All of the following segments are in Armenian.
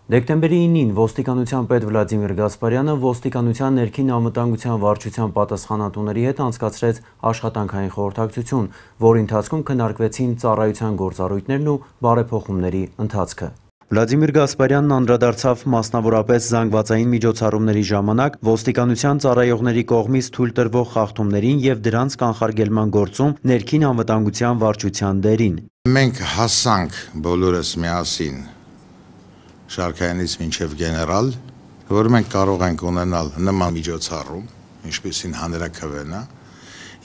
Դեկտեմբերի 9-ին ոստիկանության պետ Վլադիմիր Գասպարյանը ոստիկանության ներքին անվտանգության վարչության պատասխանատուների հետ անցկացրեց աշխատանքային խորհրդակցություն, որի ընթացքում քննարկվեցին ծառայության գործառույթներն ու բարեփոխումների ընթացքը։ Վլադիմիր Գասպարյանն անդրադարձավ մասնավորապես զանգվածային միջոցառումների ժամանակ ոստիկանության ծառայողների կողմից թույլ տրվող խախտումներին և դրանց կանխարգելման գործում ներքին անվտանգության վարչության դերին։ Մենք հասանք բոլորս միասին շարքայինից մինչև գեներալ, որ մենք կարող ենք ունենալ նման միջոցառում, ինչպիսին հանրաքվեն է,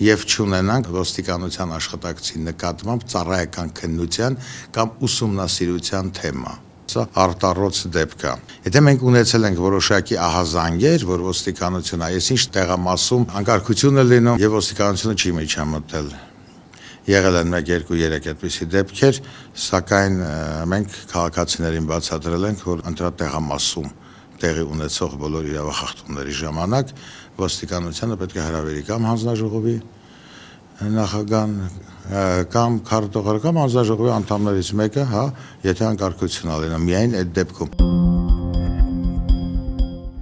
և չունենանք ոստիկանության աշխատակցի նկատմամբ ծառայական քննության կամ ուսումնասիրության թեմա։ Սա արտառոց դեպք է։ Եթե մենք ունեցել ենք որոշակի ահազանգեր, որ ոստիկանությունը այսինչ տեղամասում անկարգություն է լինում և ոստիկանությունը չի միջամտել։ Եղել են 1-2-3 այդպիսի դեպքեր, սակայն մենք քաղաքացիներին բացատրել ենք, որ ընտրատեղամասում տեղի ունեցող բոլոր իրավախախտումների ժամանակ ոստիկանությանը պետք է հրավերի կամ հանձնաժողովի նախագահան կամ քարտուղար կամ հանձնաժողովի անդամներից մեկը, եթե անկարգություն լինի, միայն այդ դեպքում։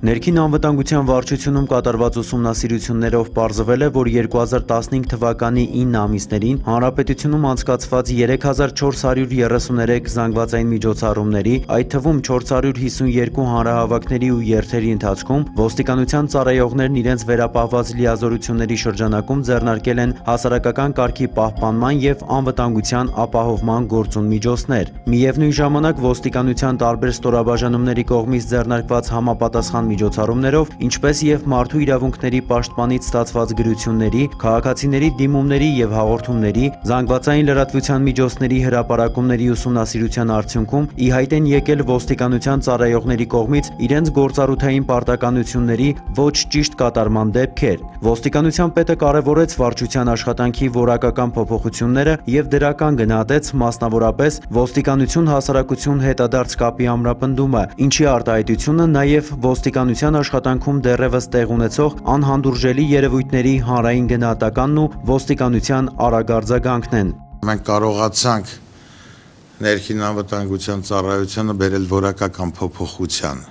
Ներքին անվտանգության վարչությունում կատարված ուսումնասիրություններով պարզվել է, որ 2015 թվականի 9 ամիսներին հանրապետությունում անցկացված 3433 զանգվածային միջոցառումների, այդ թվում 452 հանրահավաքների ու երթերի ընթացքում ոստիկանության ծառայողներն իրենց վերապահված լիազորությունների շրջանակում ձեռնարկել են հասարակական կարգի պահպանման և անվտանգության ապահովման գործուն միջոցներ։ Միևնույն ժամանակ ոստիկանության տարբեր ստորաբաժանումների կողմից ձեռնարկված համապատասխան միջոցառումներով, ինչպես և մարդու իրավունքների պաշտպանից ստացված գրությունների, քաղաքացիների դիմումների և հաղորդումների, զանգվածային լրատվության միջոցների հրապարակումների ուսումնասիրության արդյունքում ի հայտ են եկել ոստիկանության ծառայողների կողմից իրենց գործառութային պարտականությունների ոչ ճիշտ կատարման դեպքեր։ Ոստիկանության պետը կարևորեց վարչության աշխատանքի որակական փոփոխությունները և դրական գնահատեց մասնավորապես ոստիկանություն-հասարակություն հետադարձ կապի ամրապնդումը, ինչի արտահայտությունը նաև ոստիկանության աշխատանքում դեռևս տեղ ունեցող անհանդուրժելի երևույթների հանրային գնահատականն ու ոստիկանության արագ արձագանքն են։ Մենք կարողացանք ներքին անվտանգության ծառայությանը բերել որակական փոփոխության։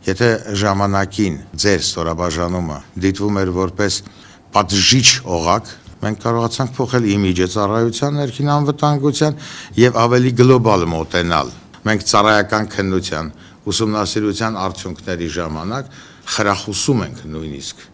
Եթե ժամանակին ձեր ստորաբաժանումը դիտվում էր որպես պատժիչ օղակ, մենք կարողացանք փոխել իմիջը ծառայության ներքին անվտանգության և ավելի գլոբալ մոտենալ։ Մենք ծառայական քննության ուսումնասիրության արդյունքների ժամանակ խրախուսում ենք նույնիսկ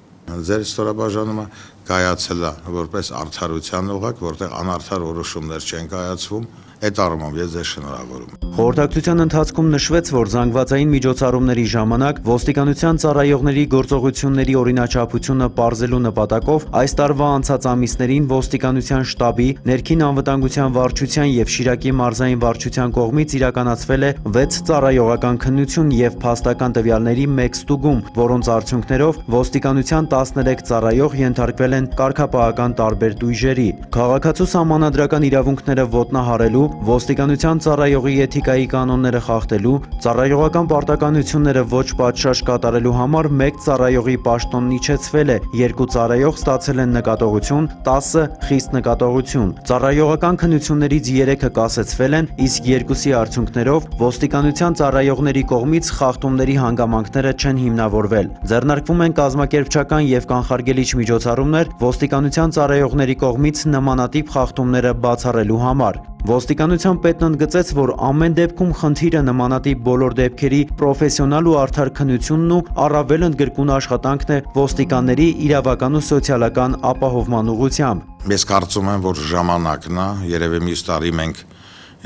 ձեր ստորաբաժանումը կայացել է որպես արդարության օղակ, որտեղ անարդար որոշումներ չեն կայացվում, այդ առումով ես ձեզ շնորհավորում եմ։ Խորհրդակցության ընթացքում նշվեց, որ զանգվածային միջոցառումների ժամանակ ոստիկանության ծառայողների գործողությունների օրինաչափությունը պարզելու նպատակով այս տարվա անցած ամիսներին ոստիկանության շտաբի, ներքին անվտանգության վարչության և Շիրակի մարզային վարչության կողմից իրականացվել է 6 ծառայողական քննություն և փաստական տվյալների 1 ստուգում, որոնց արդյունքներով ոստիկանության 13 ծառայող ենթարկվել են կարգապահական տարբեր տույժերի։ Քաղաքացու սահմանադրական իրավունքները ոտնահարելու, ոստիկանության ծառայողի էթիկայի կանոնները խախտելու, ծառայողական պարտականությունները ոչ պատշաճ կատարելու համար 1 ծառայողի պաշտոնն իջեցվել է, 2 ծառայող ստացել են նկատողություն, 10-ը խիստ նկատողություն։ Ծառայողական քննություններից 3-ը կասեցվել են, իսկ 2-ի արդյունքներով ոստիկանության ծառայողների կողմից խախտումների հանգամանքները չեն հիմնավորվել։ Ձեռնարկվում են կազմակերպչական և կանխարգելիչ միջոցառումներ ոստիկանության ծառայողների կողմից նմանատիպ խախտումները բացառելու համար։ Ոստիկանության պետն ընդգծեց, որ ամեն դեպքում խնդիրը նմանատիպ բոլոր դեպքերի պրոֆեսիոնալ ու արդար քննությունն ու առավել ընդգրկուն աշխատանքն է ոստիկանների իրավական ու սոցիալական ապահովման ուղղությամբ։ Ես կարծում եմ, որ ժամանակն է, երևի մյուս տարի մենք,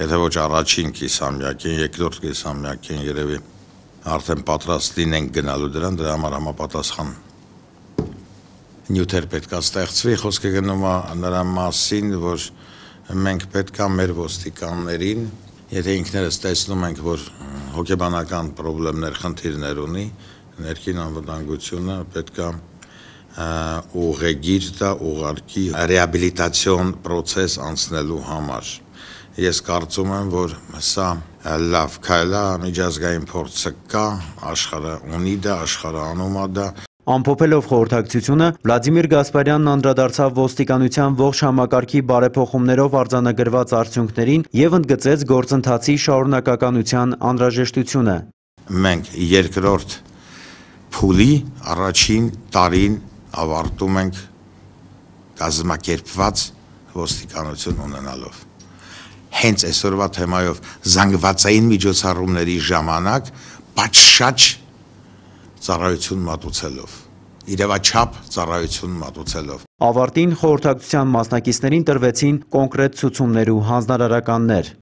եթե ոչ առաջին կիսամյակին, երկրորդ կիսամյակին երևի արդեն պատրաստ լինենք գնալու դրան, դրա համար համապատասխան նյութեր պետք է ստեղծվի, խոսքը գնում է նրա մասին, որ մենք պետք է մեր ոստիկաններին, եթե ինքներս տեսնում ենք, որ հոգեբանական պրոբլեմներ, խնդիրներ ունի, ներքին անվտանգությունը պետք է ուղեգիր տա, ուղարկի ռեաբիլիտացիոն պրոցես անցնելու համար։ Ես կարծում եմ, որ սա լավ քայլ է, միջազգային փորձը կա, աշխարհը ունի դա, աշխարհը անում է դա։ Ամփոփելով խորհրդակցությունը, Վլադիմիր Գասպարյանն անդրադարձավ ոստիկանության ողջ համակարգի բարեփոխումներով արձանագրված արդյունքներին և ընդգծեց գործընթացի շարունակականության անհրաժեշտությունը։ մենք երկրորդ փուլի առաջին տարին ավարտում ենք կազմակերպված ոստիկանություն ունենալով։ Հենց այսօրվա թեմայով զանգվածային միջոցառումների ժամանակ պատշաճ ծառայություն մատուցելով, իրավաչափ ծառայություն մատուցելով։ Ավարտին խորհրդակցության մասնակիցներին տրվեցին կոնկրետ ցուցումներ ու հանձնարարականներ։